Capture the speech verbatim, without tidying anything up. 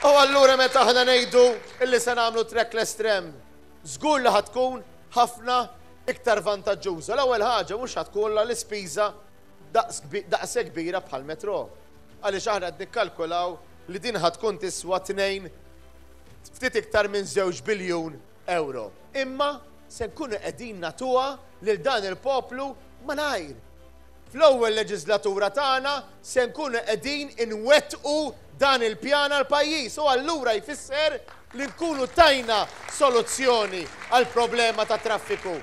U allura meta aħna ngħidu illi se nagħmlu trackless tram, żgur li ħa tkun ħafna iktar vantaġġuża. L-ewwel ħaġa, mhux ħa tkun l-ispiża daqshekk kbira bħal metro. Għaliex aħna qed nikkalkulaw li din ħa tkun tiswa tnejn, ftit iktar minn żewġ biljun euro. Imma se nkunu qegħdin nagħtuha lil dan il-poplu malajr. Fl-ewwel leġislatura tagħna se nkunu qegħdin inwettqu dan il-pjan għal pajjiż u allura jfisser li nkunu tajna soluzzjoni għal problema ta' traffiku.